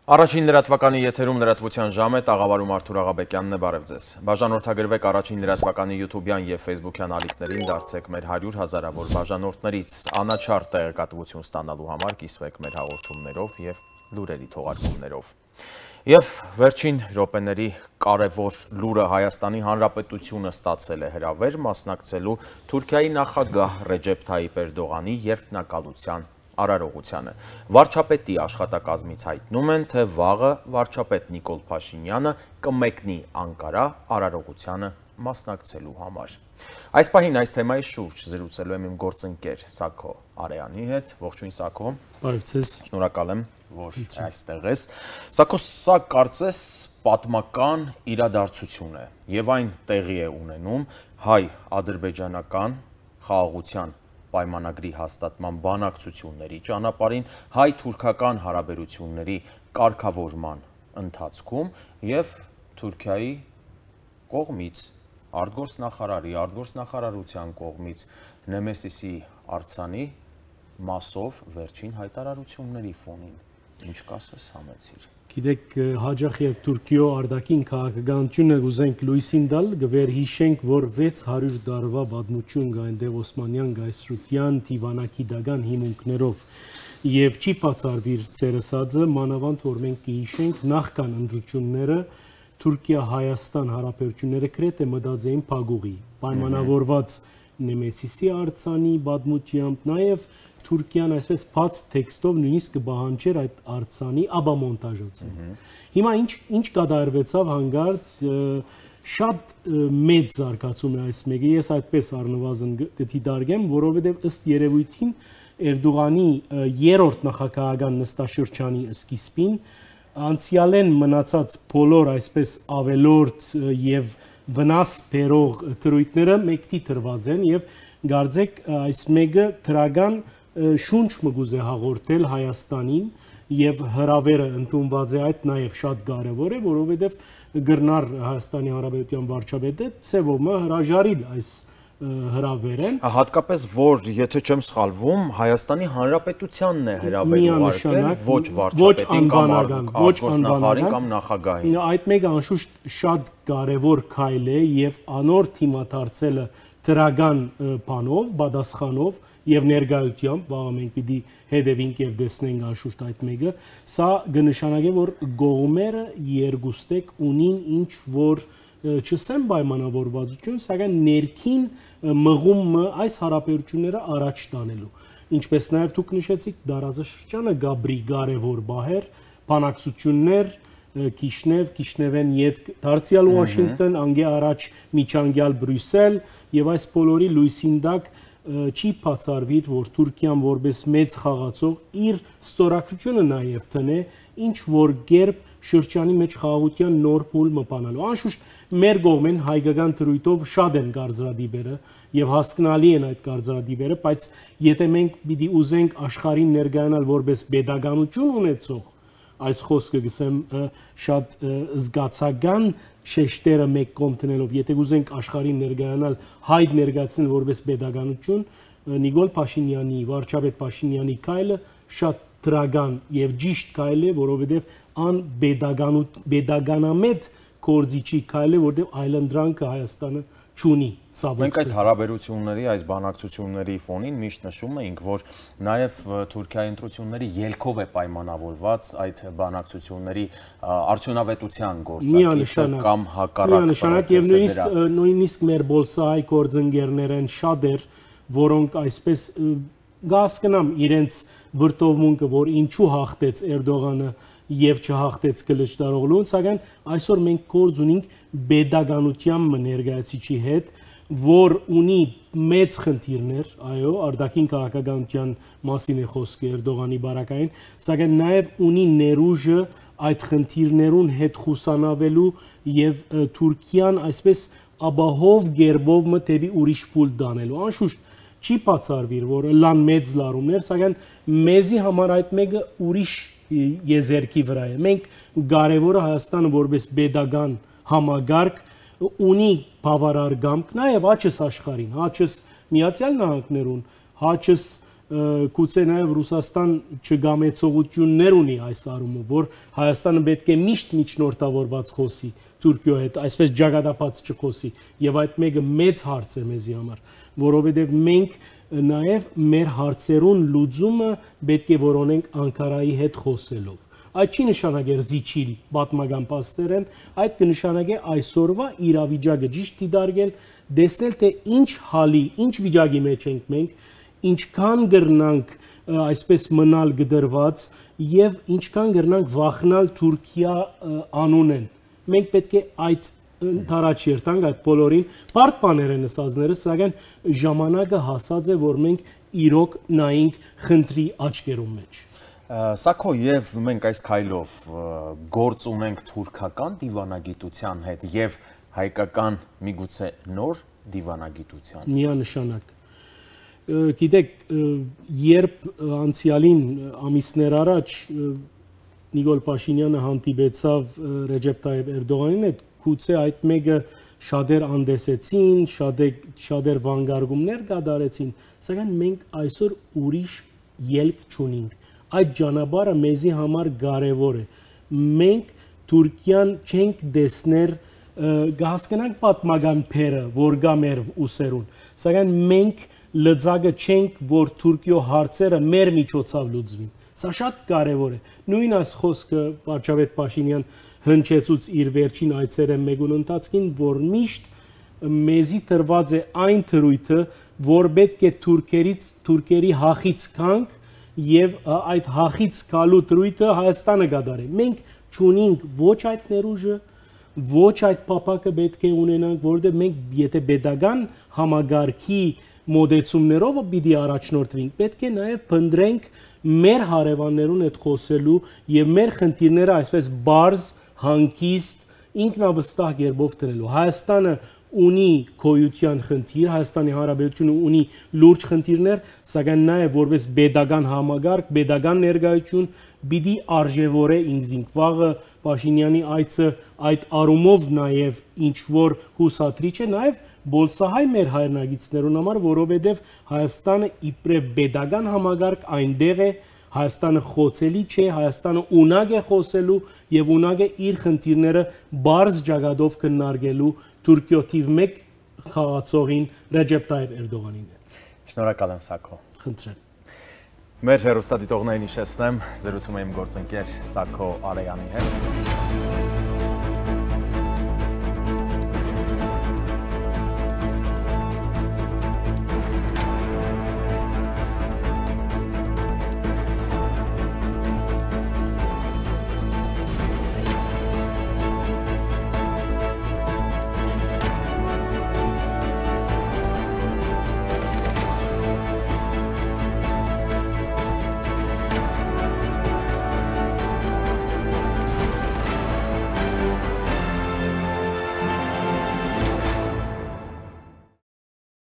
Առաջին լրատվականի եթերում լրատվության ժամ է, տաղավարում Արթուր Աղաբեկյանն է, բարև ձեզ։ Բաժանորդագրվեք առաջին լրատվականի YouTube-յան եւ Facebook-յան ալիքներին, դարձեք մեր 100 հազարավոր բաժանորդներից, անաչառ տեղեկատվություն ստանալու համար կիսվեք մեր հաղորդումներով եւ լուրերի թողարկումներով։ Եվ վերջին րոպեների կարևոր լուրը Հայաստանի Հանրապետությունը ստացել է հրավեր մասնակցելու Թուրքիայի նախագահ Ռեջեփ Թայիփ Էրդողանի երդմնակալության արարողությանը։ Վարչապետի աշխատակազմից հայտնում են, թե վաղը վարչապետ Նիկոլ Փաշինյանը կմեկնի Անկարա արարողությանը մասնակցելու համար։ Այս պահին այս թեմայի շուրջ զրուցելու եմ իմ գործընկեր Սաքո Արեանի հետ։ Ողջույն Սաքո։ Բարև ձեզ։ Շնորհակալ եմ, որ այստեղ ես։ Սաքո, սա կարծես պատմական իրադարձություն է եւ այն տեղի է ունենում հայ-ադրբեջանական խաղաղության պայմանագրի հաստատման բանակցությունների ճանապարհին, հայ-թուրքական հարաբերությունների կարգավորման ընթացքում եւ Թուրքիայի կողմից արտգործնախարարության կողմից Նեմեսիսի արձանի մասով վերջին հայտարարությունների ֆոնին ինչ կասես համեցիր։ Գիտեք, հաջող եւ Թուրքիո արտաքին քաղաքականությունը ուզենք լույսին տալ, գվերհիշենք, որ 600 տարվա պատմություն կա այնտեղ Օսմանյան գայսրության դիվանագի դական հիմունքներով եւ չի բացառվիր ցերեսածը, մանավանդ որ մենք կհիշենք նախքան ընդրությունները Թուրքիա-Հայաստան հարաբերությունները գրեթե մտածեին փակուղի, պայմանավորված Նեմեսիսի արձանի պատմությամբ, նաեւ Թուրքիան այսպես բաց տեքստով նույնիսկ կբահանջեր այդ արձանի աբամոնտաժոցը։ Հիմա ինչ կատարվեցավ հանգարց շատ մեծ զարգացում է այս մեկը, ես այդպես առնվազն դիտարկեմ, որովհետև ըստ երևույթին Էրդողանի երրորդ նախագահական նստաշրջանի սկիզբին անցյալեն մնացած բոլոր այսպես ավելորդ եւ վնաս բերող դրույթները մեկտի տրված են եւ գարձեք այս մեկը դրական շունչ մգուզ է հաղորդել Հայաստանին եւ հրավերը ընդունված է այդ նաեւ շատ կարեւոր է, որովհետեւ գրնար Հայաստանի Հանրապետության վարչապետը ծևոմը հրաժարիլ այս հրավերեն։ Հատկապես որ եթե չեմ սխալվում, Հայաստանի Հանրապետությանն է հրավեր ուղարկել, ոչ վարչապետին կամ արտգործնախարարին կամ նախագահին։ Այդ մեկը անշուշտ շատ կարեւոր քայլ է եւ անոր թիմադարձելը դրական բանով, պատասխանով եւ ներգայությամբ, վաղը մենք պիտի հետևենք եւ տեսնենք անշուշտ այդ մեկը, սա կնշանակի, որ գողմերը երկուստեք ունին ինչ որ չսեմ պայմանավորվածություն, սակայն ներքին մղումը այս հարաբերությունները առաջ տանելու։ Ինչպես նաեւ դուք նշեցիք, դարաշրջանը գաբրի կարևոր բահեր, բանակցություններ, Կիշնևեն յետ դարձյալ Վաշինգտոն, անգե առաջ միջանկյալ Բրյուսել եւ այս բոլորի լույսին տակ չի բացառվիր, որ Թուրքիան որպես մեծ խաղացող իր ստորագրությունը նաեւ տնե ինչ որ գերբ շրջանի մեջ խաղաղության նոր փուլ մտանալու։ Անշուշտ մեր կողմեն հայկական դրույթով շատ են գարձրադիբերը եւ հասկանալի են այդ գարձրադիբերը, բայց եթե մենք պիտի ուզենք աշխարհին ներկայանալ որպես pedagogical ունեցող այս խոսքը գսեմ շատ զգացական շեշտերը մեկ կողմ տնելով, եթե ուզենք աշխարհին ներկայանալ հայտ ներկայացնել որպես pedagogical, Նիկոլ Փաշինյանի, վարչապետ Փաշինյանի քայլը շատ դրական եւ ճիշտ քայլ է, որովհետեւ ան pedagoganamետ կորձիչի քայլ է, որովհետեւ այլանդրանքը Հայաստանը չունի։ Մենք այդ հարաբերությունների, այս բանակցությունների ֆոնին միշտ նշում էինք, որ նաև Թուրքիայի ընտրությունների ելքով է պայմանավորված այդ բանակցությունների արդյունավետության գործընթացը կամ հակառակ եւ նույնիսկ մեր բոլսահայ գործընկերներ են շատեր, որոնք այսպես գասկնամ իրենց վրտովմունքը, որ ինչու հաղթեց Էրդողանը եւ չհաղթեց Կլիչդարօղլուն, սակայն այսօր մենք գործ ունենք pedagogical ներկայացիչի հետ, որ ունի մեծ խնդիրներ, այո, արտաքին քաղաքականության մասին է խոսքը Էրդողանի բարակային, սակայն նաև ունի ներուժը այդ խնդիրներուն հետ խուսանավելու եւ Թուրքիան այսպես աբահով գերբով մտեւի ուրիշ փուլ դանելու։ Անշուշտ չի բացառվիր, որ լան մեծ լարումներ, սակայն մեզի համար այդ մեկը ուրիշ եզերքի վրա է։ Մենք կարևորը Հայաստանը որպես pedagogan համագարկ ունի բավարար գամք, նաև հաճս աշխարհին, հաճս Միացյալ Նահանգներուն, հաճս գուցե նաև Ռուսաստան չգամեցողություններ ունի այս առումով, որ Հայաստանը պետք է միշտ միջնորդավորված խոսի Թուրքիայի հետ, այսպես ջագատապած չխոսի, եւ այդ մեկը մեծ հարց է մեզի համար, որովհետեւ մենք նաև մեր հարցերուն լուծումը պետք է որոնենք Անկարայի հետ խոսելով։ Այդ չի նշանակեր զիջիլ պատմական փաստերեն, այդ կնշանակե այսօրվա իրավիճակը ճիշտ դիտարկել, տեսնել թե ինչ հալի, ինչ վիճակի մեջ ենք մենք, ինչքան գրնանք այսպես մնալ գդրված եւ ինչքան գրնանք վախնալ Թուրքիա անունեն։ Մենք պետք է այդ տարաճ երթանք այդ բոլորին բարդ բաներ են ասածները, սակայն ժամանակը հասած է, որ մենք իրոք նայենք խնդրի աչքերում մեջ։ Սակո եւ մենք այս քայլով գործ ունենք թուրքական դիվանագիտության հետ եւ հայկական միգուցե նոր դիվանագիտության։ Միանշանակ։ Գիտեք, երբ անցյալին ամիսներ առաջ Նիկոլ Փաշինյանը հանդիպեցավ Ռեջեփ Տայիպ Էրդողանին հետ, գուցե այդ մեկը շատեր անդեսեցին, շատեր վանգարկումներ կատարեցին, սակայն մենք այսօր ուրիշ ելք չունենք։ Այդ ճանապարհը մեզի համար կարևոր է։ Մենք Թուրքիան չենք դեսներ, կհասկանանք պատմական փերը, որ կա մեր ուսերուն, սակայն մենք լծակը չենք, որ Թուրքիո հարցերը մեր միջոցով լուծվին։ Սա շատ կարևոր է։ Նույն այս խոսքը վարչապետ Փաշինյան հնչեցուց իր վերջին այցերը մեկուն ընթացքին, որ միշտ մեզի տրված է այն թրույթը, որ պետք է թուրքերի հախից կանք եւ այդ հախից գալու դրույթը Հայաստանը կդարի։ Մենք չունենք ոչ այդ ներուժը, ոչ այդ փապակը պետք է ունենանք, որովհետեւ մենք եթե pedagogan համագարքի մոդեցումներով պիտի առաջնորդվենք, պետք է նաեւ փնտրենք մեր հարևաններուն հետ խոսելու եւ մեր խնդիրները այսպես բարձ, հանգիստ, ինքնավստահ կերպով դնելու։ Հայաստանը ունի գոյության խնդիր, Հայաստանի Հանրապետությունը ունի լուրջ խնդիրներ, սակայն նաև որպես pedagogan համագարկ, pedagogan ներկայություն պիտի արժևորե ինքզինք։ Վաղը Փաշինյանի այցը այդ առումով նաև ինչ որ հուսադրիչ է, նաև բոլսահայ մեր հայրենագիցներուն համար, որովհետև Հայաստանը իբրև pedagogan համագարկ այնտեղ է, Հայաստանը խոցելի չէ, Հայաստանը ունակ է խոսելու եւ ունակ է իր խնդիրները բարձ ճակատով քննարկելու Թուրքիո թիվ 1 խաղացողին Ռեջեփ Տայիպ Էրդողանին է։ Շնորհակալ եմ Սակո։ Խնդրեմ։ Մեր հեռուստադիտողներին հիշեցնեմ, զրուցում եմ գործընկեր Սակո Արեյանի հետ։